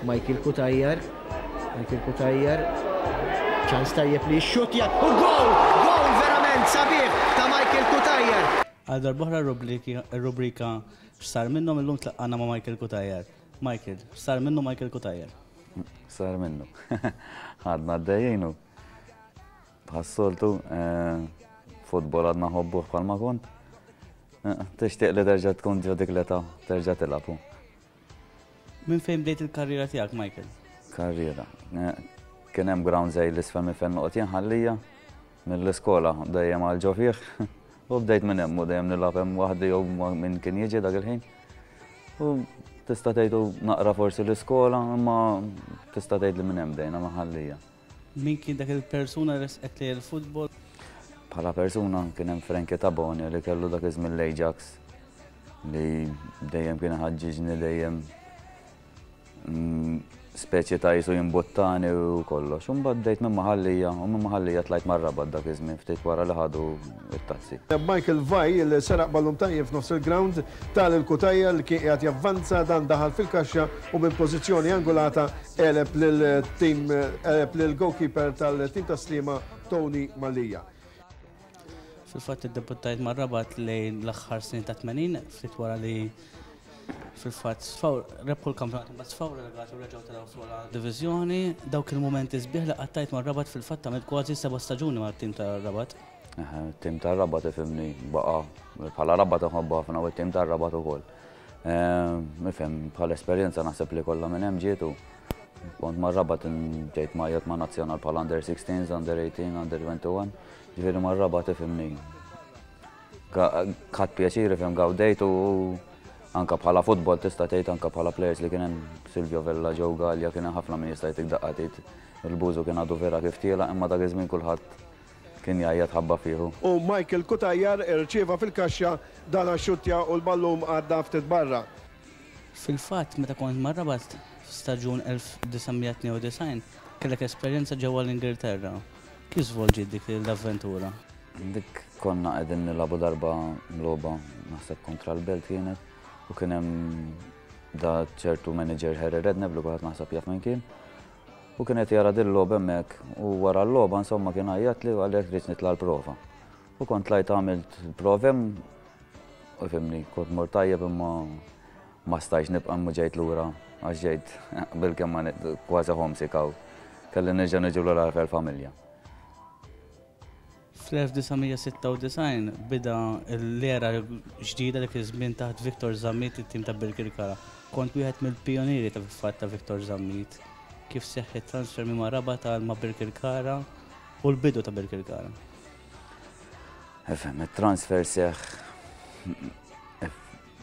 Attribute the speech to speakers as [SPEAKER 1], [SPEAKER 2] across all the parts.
[SPEAKER 1] Michael Cutajar, Michael Cutajar, ċans tajjeb li xxutja u gol! Gol verament sabiħ ta' Michael Cutajar!
[SPEAKER 2] Għal darb'oħra r-rubrika X'sar minnhom illum tlaqqana ma' Michael Cutajar. Michael, x'sar minnu Michael Cutajar?
[SPEAKER 3] Sar minnu. Għadna għaddejjin u bħas-soltu eh, futbol għadna ħobbuh bħalma kont. Eh, tixtieq li terġa' tkun ġo dik l-età, terġa' tilgħab.
[SPEAKER 2] Minn fejn bdejt il-karriera tiegħek, Michael?
[SPEAKER 3] Karriera. Eh, kien hemm ground żej l-isfel minn fejn noqgħod jien ħallija mill-iskola dejjem għal ġo fih. U bdejt minn hemm u dejjem nilgħab hemm waħdi jew minn kien jiġi dak il-ħin. U tista' tgħidu naqra forsi l-iskola, imma tista' tgħid li minn hemm bdejna ma' ħallija.
[SPEAKER 2] Min kien dak il-persuna li resqek lejn il-futbol?
[SPEAKER 3] Bħala persuna kien hemm Frankie Tabone li kellu dak iż-żmien l-Ajax li dejjem kien iħaġġiġni dejjem mm, speċi ta' jisu jimbuttani u kollox. U mbagħad bdejt minn maħallija u minn maħallija tlajt mar-Rabat dak iż-żmien ftit wara li ħadu it-tazzi.
[SPEAKER 4] Michael Vai li seraq ballun tajjeb f'nofs il-grawnd, ta lil Cutajar li kien qiegħed javvanza, dan daħal fil-kaxxa u minn pożizzjoni angolata għeleb lil tim għeleb lil goalkeeper tal-tim ta' Sliema Tony Mallia.
[SPEAKER 2] Fil-fatt iddebuttajt mar-Rabat lejn l-aħħar snin tat-80, ftit wara li fil-fatt sfaw rebħu l-kampjonat imbagħad sfaw relegati u reġgħu telgħu fl-ogħla diviżjoni. Dawk il-mumenti sbieħ li qattajt mar-Rabat fil-fatt għamilt kważi seba' staġuni mat-tim tar-Rabat.
[SPEAKER 3] Tim tar-Rabat ifhimni baqa' bħala Rabat inħobbu ħafna u t-tim tar-Rabat ukoll. Ifhem bħala esperjenza naħseb li kollha minn hemm ġiet u kont mar-Rabat ġejt ngħajjat ma' nazzjonal bħala under 16s, under 18, under 21. Ġifieri mar-Rabat ifhimni Ħadt pjaċir ifhem gawdejt u anka bħala futbol tista' tgħid anka bħala players li kien hemm Silvio Vella, Joe Gallia, kien hemm ħafna min jista' jtik daqqa tgħid il-Bużu kien għadu vera kif tiela' imma dak iż-żmien kulħadd kien jgħajjat ħabba fih.
[SPEAKER 4] U Michael Cutajar irċieva fil-kaxxa dan għax-xuttja u l-ballun għadda ftit barra.
[SPEAKER 2] Fil-fatt meta kont mar-Rabat f'staġun 1992 kellek esperjenza ġewwa l-Ingilterra. Kif żvolġiet dik l-avventura?
[SPEAKER 3] Dik konna qegħdin nilagħbu darba logħba naħseb kontra l-Belt kienet u kien hemm da ċertu manager Harry Redknapp li kulħadd naħseb jaf min kien. U kien qed jara din logħba hemmhekk u wara l-logħba insomma kien għajjatli u qalli jekk tridx nitla' l-prova. U kont tlajt għamilt prova hemm u fimni kont mort tajjeb imma ma stajtx nibqa' imma ġejt lura għax ġejt bilkemm ma kważi homesick hawn. Kelli nerġa' niġi lura għall-familja.
[SPEAKER 2] Fl-1996 bida l-era ġdida dak iż-żmien taħt Victor Zammit it-tim ta' Birkirkara. Kont wieħed mill-pijunieri ta' fatt ta' Victor Zammit. Kif seħħ it-transfer minn ma' Rabat għal ma' Birkirkara u l-bidu ta' Birkirkara?
[SPEAKER 3] Ifhem, it-transfer seħħ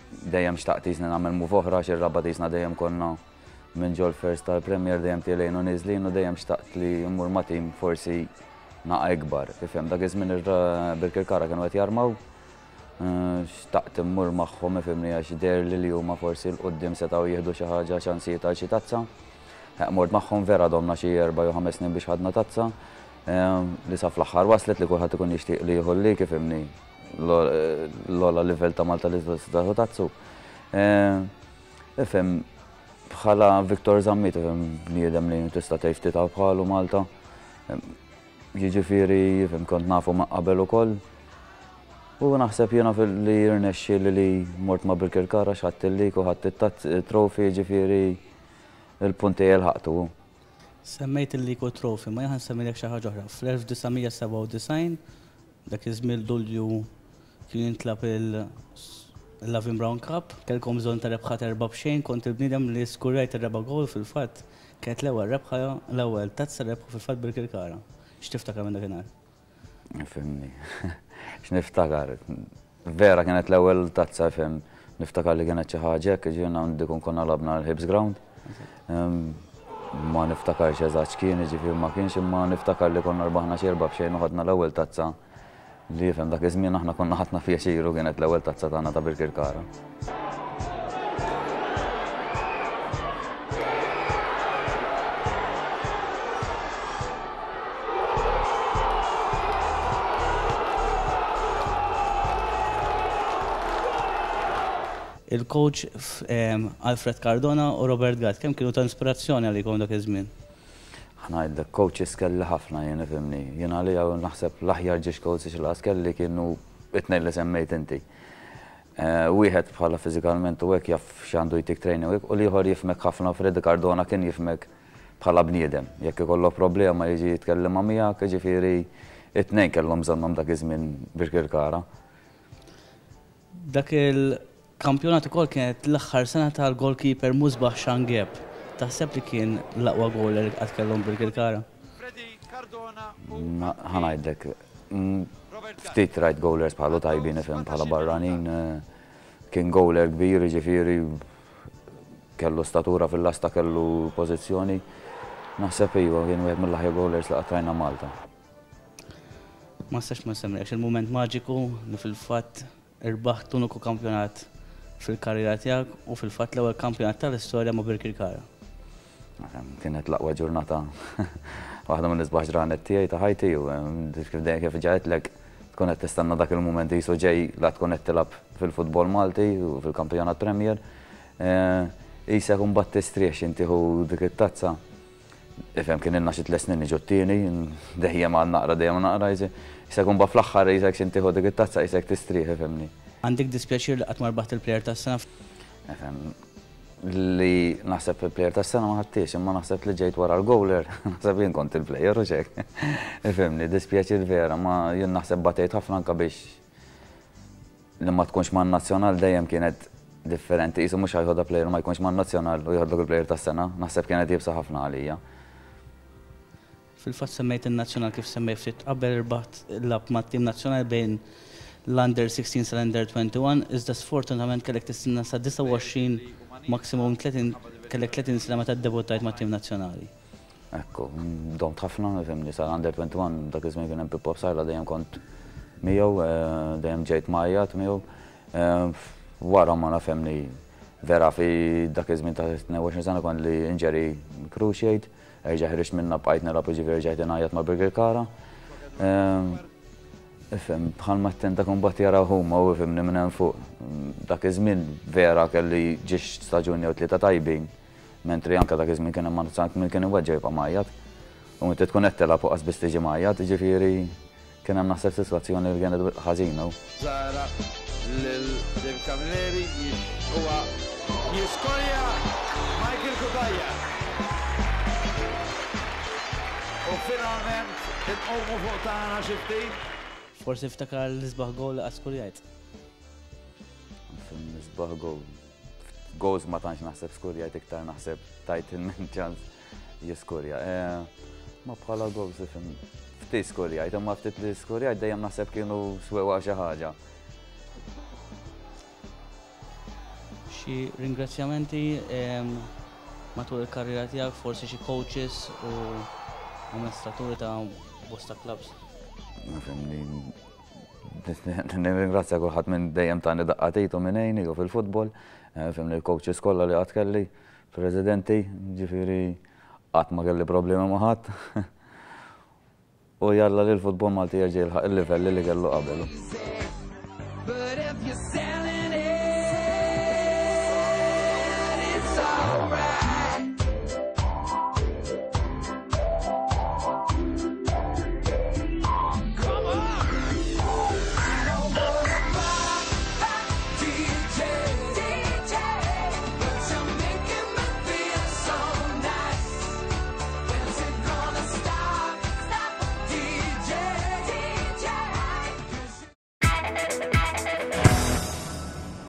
[SPEAKER 3] dejjem xtaqt jisni nagħmel move oħra għax ir-Rabat jisna dejjem konna minn ġol first tal-Premier dejjem tielgħin u niżlin u dejjem xtaqt li mmur ma' tim forsi naqa ikbar. Ifhem, dak iż-żmien Birkirkara kienu qed jarmaw, xtaqt immur magħhom ifhimni għax deherli li huma forsi 'l quddiem setgħu jieħdu xi ħaġa ċansijiet għal xi tazza. Mort magħhom vera domna xi erba' jew ħames snin biex ħadna tazza li sa fl-aħħar waslet li kulħadd ikun jixtieq li jieħu l-league ifhimni l-ogħla livell ta' Malta li tista' tieħu tazzu. Ifhem, bħala Victor Zammit, ifhem bniedem li tista' tgħid ftit hawn bħalu Malta. Jiġifieri, ifhem kont nafu ma' qabel ukoll. U naħseb jiena li rnexxieli li mort ma' Birkirkara x'ħadt il-league u ħadt it-trophy, jiġifieri il-punt tiegħi lħaqtu.
[SPEAKER 2] Semmejt il-league u t-trophy, ma jien ħa nsemmilek xi ħaġa oħra. Fl-1997, dak iż-żmien Lulju Kien jintlagħab il-Lavin Brown Cup, kellkom bżonn ta' rebħa t'erbgħa b'xejn, kont il-bniedem li skurjajt ir-reba' gowl fil-fatt, kienet l-ewwel rebħa, l-ewwel tazza li rebħu fil-fatt Birkirkara. X'tiftakar minn dakinhar?
[SPEAKER 3] Fhimni. X'niftakar? Vera kienet l-ewwel tazza fhem, niftakar li kienet xi ħaġa hekk, jiġifieri hawn dik konna lagħabna l-Hibs Ground. Ma niftakarx eżatt x'kien, jiġifieri ma kienx imma niftakar li konna rbaħna xi erbgħa b'xejn u ħadna l-ewwel tazza Li jifhem dak iż-żmien aħna konna ħadna pjaċir u kienet l-ewwel tazza tagħna ta' Birkirkara.
[SPEAKER 2] Il-coach Alfred Cardona u Robert Gatt, kemm kienu ta' inspirazzjoni għalikom dak iż-żmien?
[SPEAKER 3] Ħa ngħidlek, coaches kelli ħafna jien ifhimni. Jien għalija naħseb l-aħjar ġiex coaches li qatt kelli kienu it-tnejn li semmejt inti. Wieħed bħala fiżikalment u hekk jaf x'għandu jtik training u hekk u l-ieħor jifhmek ħafna u Freddie Cardona kien jifhmek bħala bniedem. Jekk ikollok problema jiġi jitkellimha miegħek, jiġifieri it-tnejn kellhom bżonnhom dak iż-żmien Birkirkara.
[SPEAKER 2] Dak il-kampjonat ukoll kienet l-aħħar sena tal-goalkeeper Musbah Shangeb. Taħseb li kien l-aqwa goaler li qatt kellhom Birkirkara?
[SPEAKER 3] Ħa ngħidlek, ftit rajt goalers bħalu tajbin ifhem bħala barranin. Kien goaler kbir, jiġifieri kellu statura fil-lasta, kellu pożizzjoni. Naħseb iva, kien wieħed mill-aħjar goalers li qatt rajna Malta.
[SPEAKER 2] Ma nistax ma nsemmilekx il-mument maġiku li fil-fatt irbaħt l-uniku kampjonat fil-karriera tiegħek u fil-fatt l-ewwel kampjonat tal-istorja ma' Birkirkara.
[SPEAKER 3] Kienet l-aqwa ġurnata, waħda mill-isbaħ ġranet tiegħi ta' ħajti u kif dejjem kif ġa għedtlek tkun qed tistenna dak il-mument qisu ġej la tkun qed tilgħab fil-futbol Malti u fil-kampjonat Premier. Qisek imbagħad tistrieħ x'int tieħu dik it-tazza. Ifhem kien ilna xi tliet snin niġu t-tieni, dejjem għal naqra, dejjem naqra, qisek imbagħad fl-aħħar qisek x'int tieħu dik it-tazza qisek tistrieħ, ifhimni.
[SPEAKER 2] Għandek dispjaċir li qatt ma rbaħt il-player tas-sena?
[SPEAKER 3] Ifhem, li naħseb il-player tas-sena ma ħadtix, imma naħseb li ġejt wara l-goaler, naħseb jien kont il-player u xek. Ifhimni, dispjaċir vera, ma jien naħseb batejt ħafna anka biex li ma tkunx man-nazzjonal dejjem kienet differenti, qisu mhux ħa jħodha player ma jkunx man-nazzjonal u jħodlok il-player tas-sena, naħseb kienet iebsa ħafna għalija.
[SPEAKER 2] Fil-fatt semmejt in-nazzjonal kif semmejt ftit qabel irbaħt lab mat-tim nazzjonali bejn l-under 16 sal-under 21, iżda sfortunatament kellek tistenna sa 29 maximum 30 kellek 30 sena meta ddebuttajt mat-tim nazzjonali.
[SPEAKER 3] Ekku, domt ħafna, fhimni, sa under 21 dak iż-żmien kien hemm Pippo Psaila dejjem kont miegħu, dejjem ġejt mgħajjat miegħu. Wara ma nafhemni vera fi dak iż-żmien ta' 22 sena kont li injury cruciate, erġa' ħriġt minna bqajt nilgħab jiġifieri rġajt ingħajjat ma' Birkirkara. Ifhem, bħalma t-tenta kumbat jaraw huma u ifhimni minn hemm fuq. Dak iż-żmien vera kelli ġiex staġun jew tlieta tajbin. Mentri anke dak iż-żmien kien hemm min kien iweġġa' jibqa' mgħajjat. U inti tkun qed tilgħab u qas biss tiġi mgħajjat, jiġifieri kien hemm naħseb sitwazzjoni li kienet ħażina.
[SPEAKER 5] Zara lil David Camilleri huwa jiskorja Michael Cutajar. U finalment inqumu fuq tagħna xi ftit.
[SPEAKER 2] Forsi ftakar l-isbaħ goal li qatt skurjajt.
[SPEAKER 3] L-isbaħ goal. Goals ma tantx naħseb skurjajt iktar naħseb tajt il-min ċans jiskurja. Ma bħala goals ifhem ftit skurjajt, imma ftit li skurjajt dejjem naħseb kienu swewa xi ħaġa.
[SPEAKER 2] Xi ringrazzjamenti matul il-karriera tiegħek, forsi xi coaches u amministraturi ta' bosta clubs.
[SPEAKER 3] Nirringrazzja kulħadd minn dejjem tani daqqa t'id u minn għejni u fil-futbol, fhimni l-coaches kollha li qatt kelli, presidenti, ġifieri qatt ma kelli problemi ma' ħadd. U jalla li l-futbol Malti jerġa' jilħaq il-livelli li kellu qabel.